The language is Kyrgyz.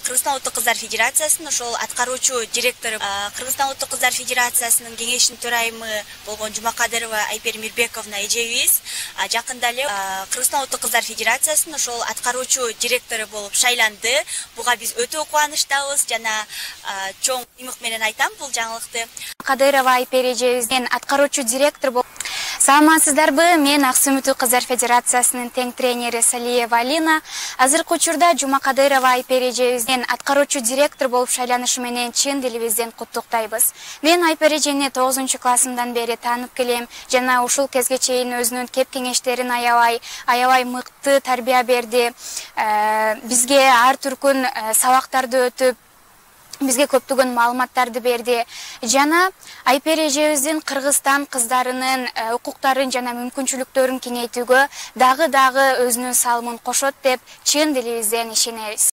Кыргызстан Улуттук Кыздар Федерациясынын ошол аткаруучу директору, Кыргызстан Улуттук Кыздар Федерациясынын кеңешинин төрайымы болгон Жумакадырова Айпер Мирбековна эжебиз жакында эле Кыргызстан Улуттук Кыздар Федерациясынын ошол аткаруучу директору болуп шайланды. Буга биз өтө кубанычтабыз жана чоң ыймык менен айтам бул жаңылыкты. Кадырова Айпер эжебизден аткаруучу директор болуп. Саламатсыздарбы? Мен Аксуу Улуттук Кыздар Федерациясынын тең тренери Салиева Алина. Азыркы учурда Жумакадырова Айпер эжебизден аткаруучу директор болуп шайланышы менен чын дилибизден куттуктайбыз. Мен Айпер эжени 9-классымдан бери таанып келем жана ушул кезге чейин өзүнүн кеп кеңештерин аябай мыкты тарбия берди. Бизге ар түркүн сабактарды өтүп, бизге көптөгөн маалыматтарды берди. Жана Айпер эжебиздин Кыргызстан кыздарынын укуктарын жана мүмкүнчүлүктөрүн кеңейтүүгө дагы өзүнүн салымын кошот деп чын дилибизден ишенебиз.